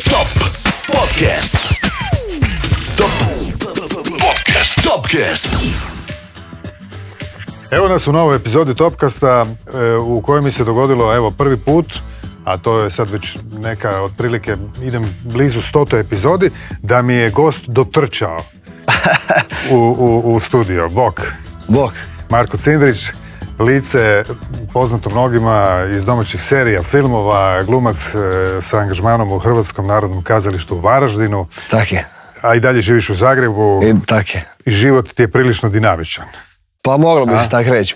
Top Podcast. Topcast. Evo nas u novoj epizodi Topcasta u kojoj mi se dogodilo prvi put, a to je sad već neka otprilike, idem blizu 100. epizodi, da mi je gost dotrčao u studio. Bok. Marko Cindrić, lice poznato mnogima iz domaćih serija, filmova, glumac sa angažmanom u Hrvatskom narodnom kazalištu u Varaždinu. Tak je. A i dalje živiš u Zagrebu. Tak je. I život ti je prilično dinamičan. Pa moglo bi se tako reći,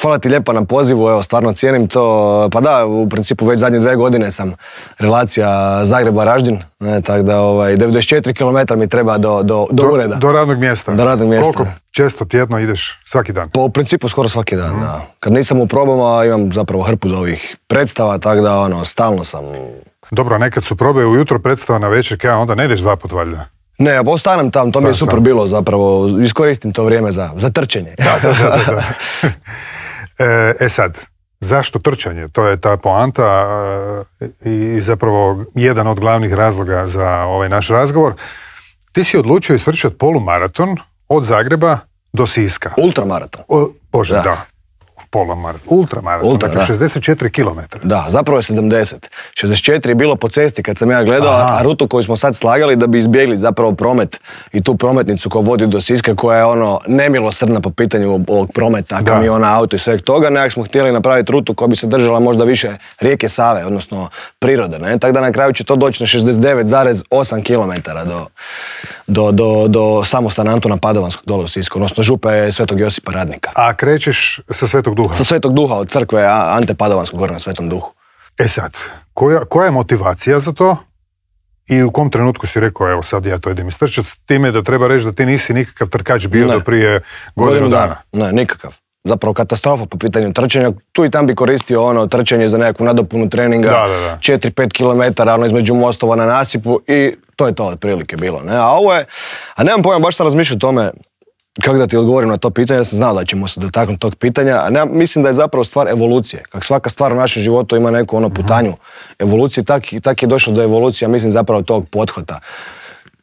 Hvala ti lijepo na pozivu, evo, stvarno cijenim to. Pa da, u principu već zadnje 2 godine sam relacija Zagreb-Varaždin, tako da 94 km mi treba do ureda. Do radnog mjesta. Do radnog mjesta. Koliko često tjedno ideš? Svaki dan? Pa u principu skoro svaki dan, da. Kad nisam u probama imam zapravo hrpu ovih predstava, tako da stalno sam. Dobro, nekad su probe ujutro, predstava na večer, onda ne ideš 2 put valjda. Ne, pa ostanem tam, to mi je super bilo zapravo, iskoristim to vrijeme za trčanje. Da. Sad, zašto trčanje? To je ta poanta i zapravo jedan od glavnih razloga za ovaj naš razgovor. Ti si odlučio istrčati polumaraton od Zagreba do Siska. Ultramaraton. Da. Ultramaraton, znači 64 km. Da, zapravo je 70. 64 je bilo po cesti kad sam ja gledao, a rutu koju smo sad slagali da bi izbjegli zapravo promet i tu prometnicu koja vodi do Siska, koja je nemilosrdna po pitanju ovog prometa, kamiona, auto i sveg toga. Nekak smo htjeli napraviti rutu koja bi se držala možda više rijeke Save, odnosno prirode. Tako da na kraju će to doći na 69,8 km do samostana Antuna Padovanskog dole u Sisku, odnosno župe Svetog Josipa Radnika. A krećeš sa Svetog Duha? Sa Svetog Duha, od crkve Ante Padovanskog gore na Svetom Duhu. Sad, koja je motivacija za to i u kom trenutku si rekao, evo sad ja to idem istrčati, s time da treba reći da ti nisi nikakav trkač bio do prije godinu dana? Ne, nikakav. Zapravo katastrofa po pitanju trčanja. Tu i tam bi koristio trčanje za nekakvu nadopunu treninga, 4-5 km između mostova na nasipu i to je to otprilike bilo. A nemam pojma baš šta razmišljati o tome kako da ti odgovorim na to pitanje, ja sam znao da ćemo se dotaknuti tog pitanja, a mislim da je zapravo stvar evolucije. Kako svaka stvar u našem životu ima neku putanju evolucije, tak je došlo do evolucije, mislim zapravo tog pothvata.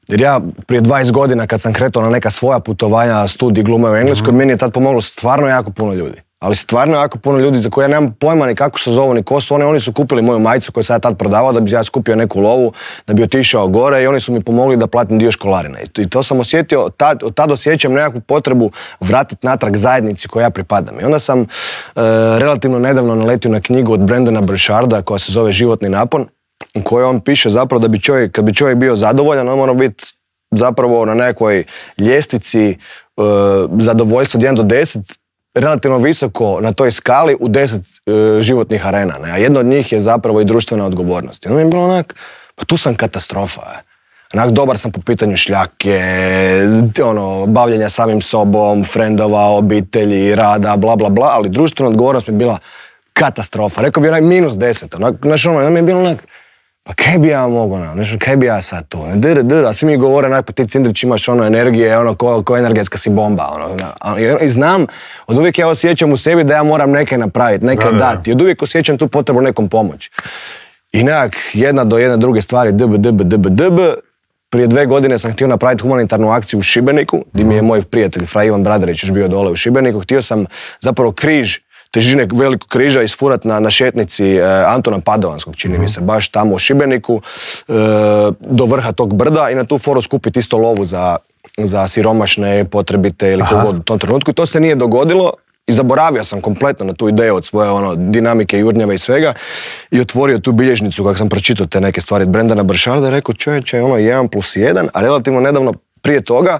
Jer ja prije 20 godina kad sam kretao na neka svoja putovanja, studij glume u Engleskoj, meni je tad pomoglo stvarno jako puno ljudi. Ali stvarno jako puno ljudi za koje ja nemam pojma ni kako se zovu, ni ko su. Oni su kupili moju majicu koju sam ja tad prodavao da bi ja skupio neku lovu, da bi otišao gore i oni su mi pomogli da platim dio školarine. I to sam osjetio, tad osjećam nekakvu potrebu vratiti natrag zajednici kojoj ja pripadam. I onda sam relativno nedavno naletio na knjigu od Brendana Burcharda koja se zove Životni napon, u kojoj on piše zapravo da bi kad bi čovjek bio zadovoljan, on mora biti zapravo na nekoj ljestvici zadovoljstva od 1 do 10, relativno visoko na toj skali u 10 životnih arena. A jedna od njih je zapravo i društvena odgovornost. I onda mi je bilo pa tu sam katastrofa. Dobar sam po pitanju šljake, bavljenja samim sobom, frendova, obitelji, rada, bla bla bla, ali društvena odgovornost mi je bila katastrofa. Rekao bi -10. Onda mi je bilo pa kaj bi ja mogao, kaj bi ja sad tu, a svi mi govore, pa ti Cindrić imaš energije, ko energetska si bomba, i znam, od uvijek ja osjećam u sebi da ja moram nekaj napraviti, nekaj dati, i od uvijek osjećam tu potrebu nekom pomoći. I nekak jedna do jedne druge stvari, prije 2 godine sam htio napraviti humanitarnu akciju u Šibeniku, gdje mi je moj prijatelj Fra Ivan Bradarić još bio dole u Šibeniku, htio sam zapravo križ, težine velikog križa isfurat na šetnici Antuna Padovanskog, čini mi se, baš tamo u Šibeniku, do vrha tog brda i na tu foru skupiti isto lovu za siromašne, potrebite ili kogod u tom trenutku. I to se nije dogodilo i zaboravio sam kompletno na tu ideju od svoje dinamike, jurnjave i svega i otvorio tu bilježnicu kako sam pročitao te neke stvari od Brendana Burcharda i rekao čovječe, 1+1, a relativno nedavno prije toga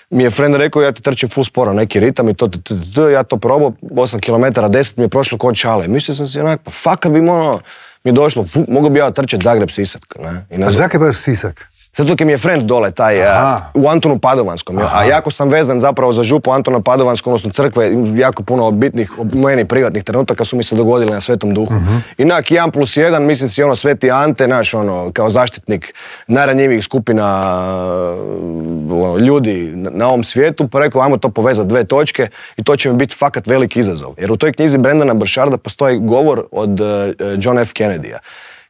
mi je friend rekao ja ti trčim full sporo, neki ritam i ja to probao, 8 km, 10 mi je prošlo kod šale. Mislio sam si pa fakat bi mi je došlo, mogu bi ja trčati Zagreb-Sisak. A zakaj baš Sisak? Zato mi je friend dole, taj, u Antonu Padovanskom, a jako sam vezan zapravo za župu Antona Padovanskom, odnosno crkve, jako puno bitnih, meni privatnih trenutaka su mi se dogodili na Svetom Duhu. Inak 1+1, mislim si Sveti Ante, kao zaštitnik najranjivijih skupina ljudi na ovom svijetu, pa rekao, ajmo to povezati 2 točke i to će mi biti fakat veliki izazov. Jer u toj knjizi Brendana Burcharda postoji govor od John F. Kennedy-a.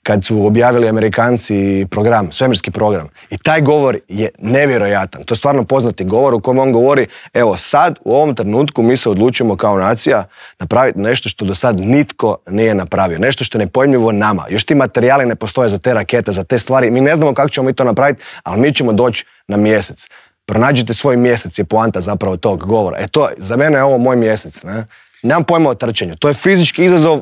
kad su objavili Amerikanci program, svemirski program. I taj govor je nevjerojatan. To je stvarno poznati govor u kojem on govori, evo sad, u ovom trenutku mi se odlučujemo kao nacija napraviti nešto što do sad nitko nije napravio. Nešto što je nepojmljivo nama. Još ti materijali ne postoje za te rakete, za te stvari. Mi ne znamo kako ćemo mi to napraviti, ali mi ćemo doći na mjesec. Pronađite svoj mjesec je poanta zapravo tog govora. To, za mene je ovo moj mjesec, ne? Nemam pojma o trčanju. To je fizički izazov,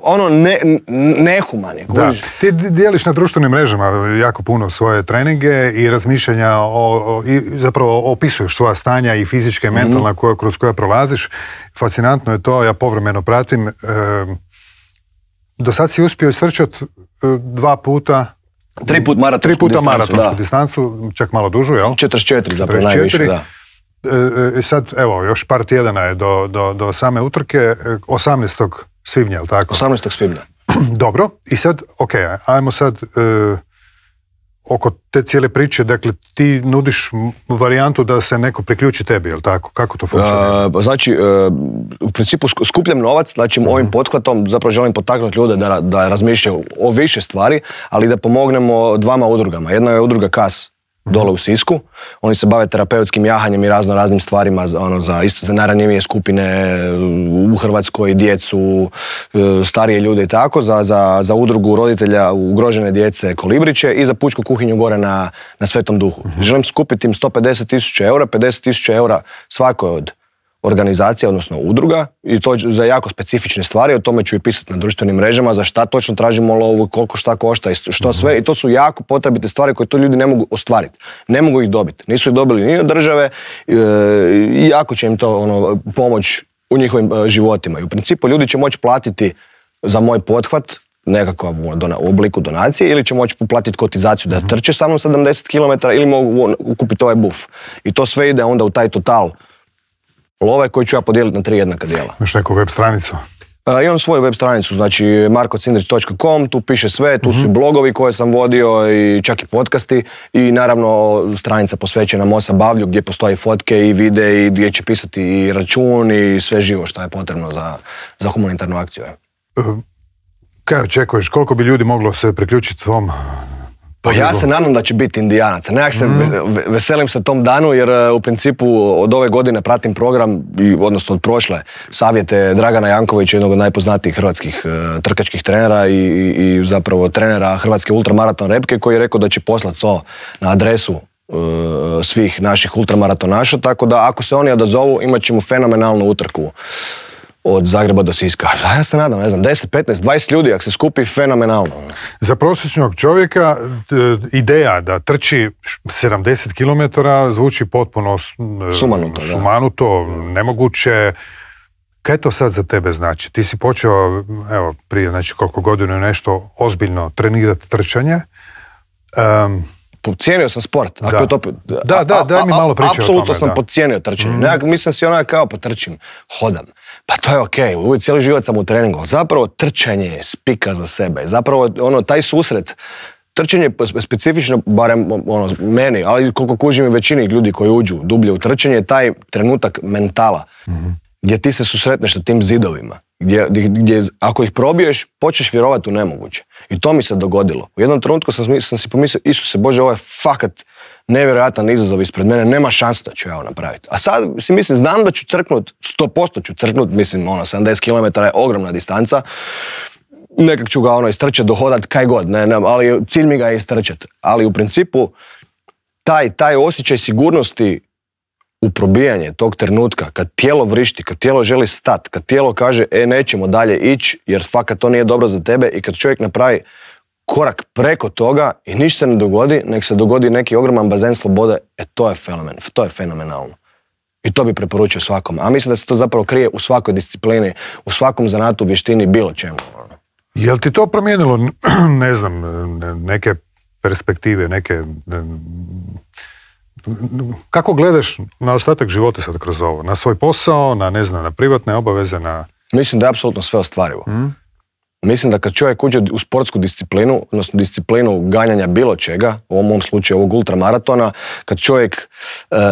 nehuman je. Da. Ti dijeliš na društvenim mrežama jako puno svoje treninge i razmišljanja i zapravo opisuješ svoja stanja i fizička i mentalna kroz koja prolaziš. Fascinantno je to, ja povremeno pratim. Do sad si uspio istrčati 2 puta... 3 puta maratonsku distancu, čak malo dužu, jel? 44 zapravo najviše, da. Sad, evo, još par tjedana je do same utrke, 18. svibnja, jel tako? 18. svibnja. Dobro, i sad, ajmo sad oko te cijele priče, dakle, ti nudiš varijantu da se neko priključi tebi, jel tako? Kako to funkcionira? Znači, u principu skupljam novac, znači ovim pothvatom zapravo želim potaknuti ljude da razmišljaju o više stvari, ali da pomognemo 2 udrugama. Jedna je udruga KAS, dole u Sisku. Oni se bave terapeutskim jahanjem i raznim stvarima za najranjivije skupine u Hrvatskoj, djecu, starije ljude i tako, za udrugu roditelja ugrožene djece Kolibriće i za pučku kuhinju gore na Svetom Duhu. Želim skupiti im 150.000 eura, 50.000 eura svakoj od organizacija, odnosno udruga, i to za jako specifične stvari, o tome ću i pisati na društvenim mrežama, za šta točno tražimo lovu, koliko šta košta i što sve, i to su jako potrebite stvari koje to ljudi ne mogu ostvariti. Ne mogu ih dobiti. Nisu ih dobili ni od države i jako će im to pomoć u njihovim životima. I u principu ljudi će moći platiti za moj pothvat nekakav u obliku donacije ili će moći platiti kotizaciju da trče sa mnom 70 km ili mogu kupiti ovaj buf. I to sve ide onda u taj total love koji ću ja podijeliti na 3 jednaka dijela. Imaš neku web stranicu? Imam svoju web stranicu, znači markocindrić.com, tu piše sve, tu su i blogovi koje sam vodio i čak i podcasti i naravno stranica posvećena Mosa Bavlju gdje postoji fotke i videi gdje će pisati i račun i sve živo što je potrebno za humanitarnu akciju. Kaj očekuješ, koliko bi ljudi moglo se priključiti svom? Pa ja se nadam da će biti Indijanaca. Nekak se veselim se tom danu jer u principu od ove godine pratim program, odnosno od prošle, savjete Dragana Jankovića, jednog od najpoznatijih hrvatskih trkačkih trenera i zapravo trenera Hrvatske ultramaraton repke, koji je rekao da će poslati to na adresu svih naših ultramaratonaša, tako da ako se oni odazovu imat ćemo fenomenalnu utrku od Zagreba do Siska. Ja se nadam, 10, 15, 20 ljudi, ako se skupi, fenomenalno. Za prosječnog čovjeka ideja da trči 70 km zvuči potpuno sumanuto, nemoguće. Kaj to sad za tebe znači? Ti si počeo, evo, prije koliko godina nešto ozbiljno trenirati trčanje. Podcijenio sam sport. Daj mi malo priče o tome. Apsolutno sam podcijenio trčanje. Mislim si kao potrčim, hodam. Pa to je okej, uvijek cijeli život sam u treningu. Zapravo trčanje je spika za sebe. Zapravo taj susret, trčanje je specifično, barem meni, ali koliko kužim i većini ljudi koji uđu dublje u trčanje, je taj trenutak mentala. Gdje ti se susretneš sa tim zidovima. Gdje ako ih probiješ, počneš vjerovati u nemoguće. I to mi se dogodilo. U jednom trenutku sam si pomislio, Isuse Bože, ovo je fakat nevjerojatan izazov ispred mene, nema šanse da ću ja ovo napraviti. A sad si mislim, znam da ću crknut, 100% ću crknut, mislim, 70 km je ogromna distanca, nekak ću ga istrčati, dohodat, kaj god, ali cilj mi ga je istrčati. Ali u principu, taj osjećaj sigurnosti u probijanje tog trenutka, kad tijelo vrišti, kad tijelo želi stat, kad tijelo kaže, nećemo dalje ići, jer fakat to nije dobro za tebe, i kad čovjek napravi korak preko toga i ništa se ne dogodi, nek se dogodi neki ogroman bazen slobode, to je fenomenalno. I to bi preporučio svakom. A mislim da se to zapravo krije u svakoj disciplini, u svakom zanatu, vještini, bilo čemu. Jel ti to promijenilo, ne znam, neke perspektive, kako gledaš na ostatak života sad kroz ovo? Na svoj posao, na privatne obaveze, na... Mislim da je apsolutno sve ostvarivo. Mislim da kad čovjek uđe u sportsku disciplinu, odnosno disciplinu ganjanja bilo čega, u ovom slučaju ovog ultramaratona, kad čovjek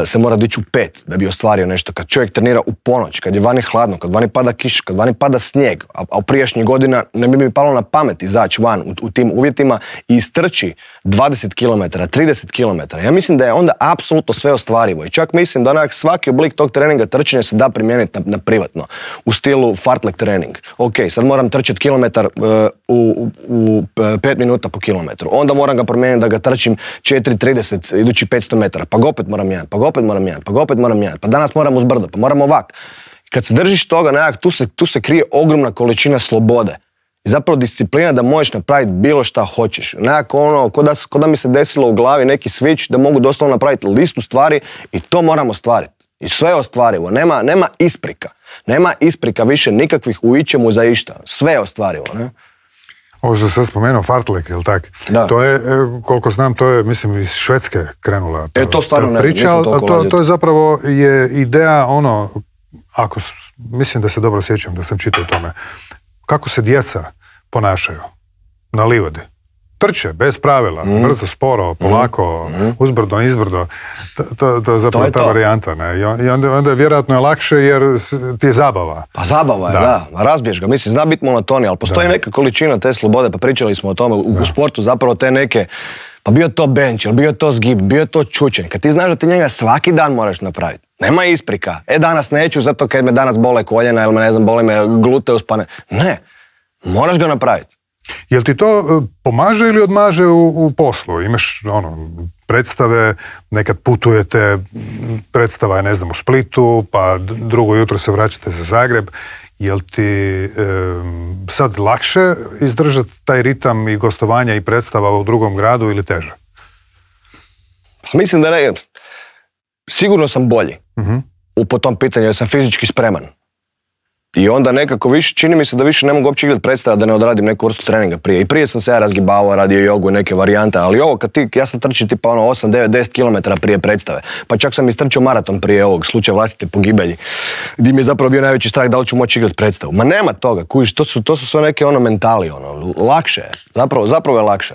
se mora dići u 5 da bi ostvario nešto, kad čovjek trenira u ponoć, kad je vani hladno, kad vani pada kiša, kad vani pada snijeg, a u prijašnjih godina ne bi mi palo na pamet izaći van u tim uvjetima i istrči 20 km, 30 km. Ja mislim da je onda apsolutno sve ostvarivo i čak mislim da svaki oblik tog treninga trčanja se da primijeniti na privatno, u stilu fartlek trening. Ok, sad moram trčati kilometar u 5 minuta po kilometru. Onda moram ga promijeniti da ga trčim 4.30 idući 500 metara. Pa ga opet moram jedan, pa ga opet moram jedan, pa ga opet moram jedan. Pa danas moram uz brdo, pa moram ovak. Kad se držiš toga nekak, tu se krije ogromna količina slobode. I zapravo disciplina da možeš napraviti bilo šta hoćeš. Nekako ono, ko da mi se desilo u glavi neki switch da mogu doslovno napraviti listu stvari i to moram ostvariti. I sve je ostvarivo. Nema isprika. Nema isprika više nikakvih u ičemu za išta. Sve je ostvarivo, ne? Ovo što sam spomenuo, fartlek, jel tak? Da. To je, koliko znam, to je, mislim, iz Švedske krenula to stvarno ne priča, to je zapravo ideja, mislim da se dobro sjećam da sam čitao o tome, kako se djeca ponašaju na livadi. Trče, bez pravila, brzo, sporo, polako, uzbrdo, izbrdo. To je zapravo ta varijanta. Ne? I onda je vjerojatno lakše jer ti je zabava. Pa zabava je, da. Razbiješ ga. Mislim, zna biti monotonija, ali postoji neka količina te slobode, pa pričali smo o tome u sportu, zapravo te neke, pa bio to bench, bio to zgib, bio to čučenj. Kad ti znaš da ti njega svaki dan moraš napraviti. Nema isprika. Danas neću zato kad me danas bole koljena ili me, ne znam, boli me gluteus, pa ne. Ne. Moraš ga napraviti. Jel ti to pomaže ili odmaže u poslu? Imaš predstave, nekad putujete, predstava je, ne znam, u Splitu, pa drugo jutro se vraćate za Zagreb. Jel ti sad lakše izdržati taj ritam i gostovanja i predstava u drugom gradu ili teže? Mislim da ne. Sigurno sam bolji po tom pitanju, jer sam fizički spreman. I onda nekako više, čini mi se da više ne mogu uopće gledati predstava da ne odradim neku vrstu treninga prije. I prije sam se ja razgibavao, radio jogu i neke varijante, ali ovo ja sam trčio tipa 8, 9, 10 km prije predstave. Pa čak sam istrčio maraton prije ovog slučaja vlastite pogibelji, gdje mi je zapravo bio najveći strah da li ću moći igrati predstavu. Ma nema toga, kužiš, to su sve neke mentali, lakše je. Zapravo je lakše.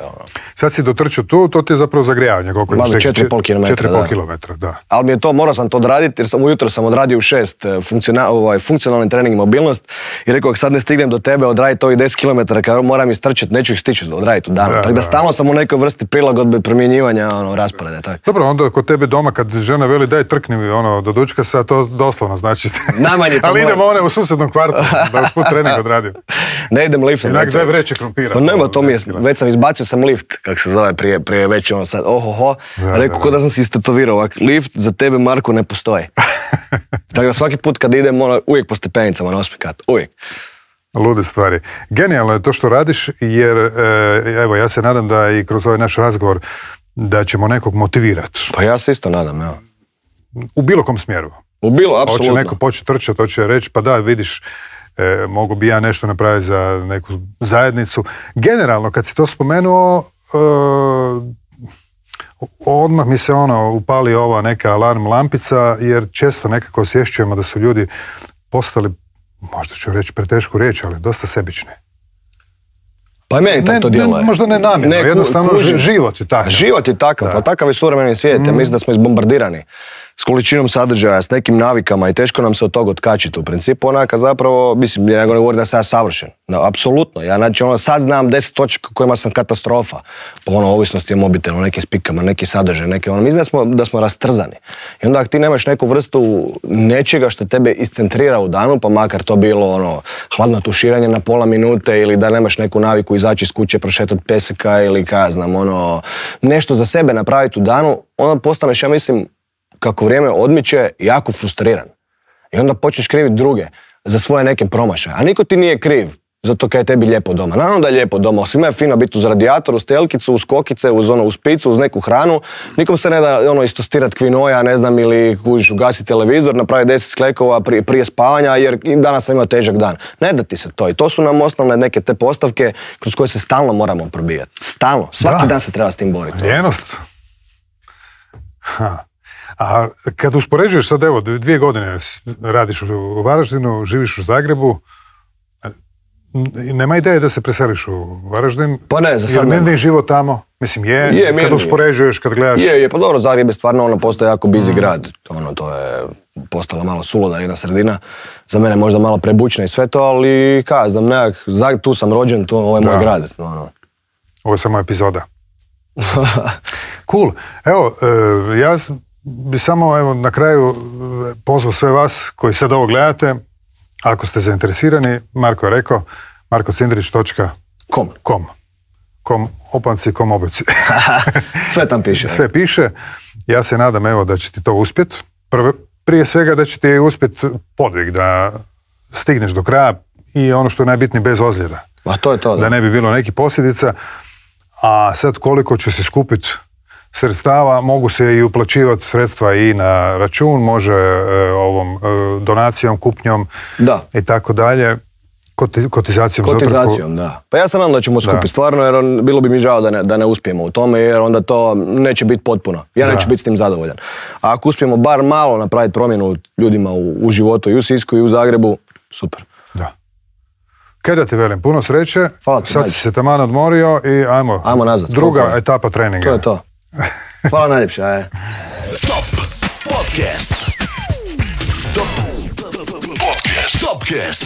Sad si dotrčio tu, to ti je zapravo zagrijavanje. 4,5 km. 4,5 km, da. Ali mi je to, morao sam to odraditi, jer ujutro sam odradio u 6 funkcionalni trening mobilnost i rekao, sad ne stignem do tebe odraditi ovih 10 km, kad moram istrčati, neću ih stići odraditi u danu. Tako da stalno sam u nekoj vrsti prilagodbe promjenjivanja rasporeda. Tak. Dobro, onda kod tebe doma kad žena veli daj trkni mi do dučkasa, to doslovno znači. Ali idemo u susednom kvartu da usput trening odradim. Ne idem liftom. Inak daj vreće krompira. Pa nema, to mi je, već sam izbacio sam lift, kako se zove, prije već sad, rekao ko da sam si istetovirao ovak, lift za tebe, Marko, ne postoji. Tako da svaki put kad idem, uvijek po stepenicama na 8. kat, uvijek. Lude stvari. Genijalno je to što radiš, jer evo, ja se nadam da i kroz ovaj naš razgovor da ćemo nekog motivirati. Pa ja se isto nadam, evo. U bilo kom smjeru. Apsolutno. Hoće neko početi trčati, hoće reći, pa da, vidiš, mogu bi ja nešto napraviti za neku zajednicu. Generalno, kad si to spomenuo, odmah mi se upali ova neka alarm lampica, jer često nekako osjećujemo da su ljudi postali, možda ću reći pretešku riječ, ali dosta sebični. Pa i meni tako to djeluje. Možda ne namjerno, jednostavno život je takav. Život je takav, pa takav je suvremeni svijet. Ja mislim da smo izbombardirani s količinom sadržaja, s nekim navikama i teško nam se od toga otkačiti. U principu onaka zapravo, mislim, ja ne govorim da sam ja savršen. No, apsolutno. Ja znači sad znam 10 točaka kojima sam katastrofa. Po ovisnosti o mobitelu, nekim spikama, neki sadržaj, neke mislim da smo rastrzani. I onda ako ti nemaš neku vrstu nečega što tebe iscentrira u danu, pa makar to bilo hladno tuširanje na pola minute ili da nemaš neku naviku izaći iz kuće, prošetati peseka ili nešto za sebe napraviti u danu, onda postaneš, ja mislim, kako vrijeme odmiče, jako frustriran. I onda počneš kriviti druge za svoje neke promašaje. A niko ti nije kriv zato kaj je tebi lijepo doma. Naravno da je lijepo doma. Svima je fino biti uz radijator, uz telkicu, uz kokice, uz picu, uz neku hranu. Nikom se ne da istostirati kvinoja, ne znam, ili ugasiti televizor, napraviti 10 sklekova prije spavanja, jer danas sam imao težak dan. Ne da ti se to. I to su nam osnovne neke te postavke kroz koje se stalno moramo probijati. Stalno. Svaki dan se treba s tim boriti. Ljenost. A kad uspoređuješ sad, 2 godine radiš u Varaždinu, živiš u Zagrebu, nema ideje da se preseliš u Varaždin? Pa ne, za sad jer nema. mirni život tamo, mislim kad uspoređuješ, kad gledaš... Je, pa dobro, Zagreb je stvarno postoje jako busy grad, to je postala malo suluda jedna sredina, za mene možda malo prebučna i sve to, ali znam, tu sam rođen, ovo je moj grad. Ovo je samo epizoda. Cool. Evo, ja bi samo na kraju pozvao sve vas koji sad ovo gledate, ako ste zainteresirani, Marko je rekao, markocindrić.com. Opanci, obuci. Sve tam piše. Sve piše. Ja se nadam, evo, da će ti to uspjeti. Prije svega da će ti uspjeti podvig, da stigneš do kraja i ono što je najbitnije, bez ozljeda. A to je to, da ne bi bilo nekih posljedica. A sad koliko će se skupiti sredstava, mogu se i uplaćivati sredstva i na račun, može donacijom, kupnjom i tako dalje. Kotizacijom, da. Pa ja se nadam da ćemo skupiti stvarno, jer bilo bi mi žao da ne uspijemo u tome, jer onda to neće biti potpuno. Ja neću biti s tim zadovoljan. A ako uspijemo bar malo napraviti promjenu ljudima u životu i u Sisku i u Zagrebu, super. Da. Kaj da ti velim, puno sreće. Hvala ti, sad si se taman odmorio i ajmo nazad. Druga etapa treninga. To je to. Hvala najljepša. Top Podcast. Topcast.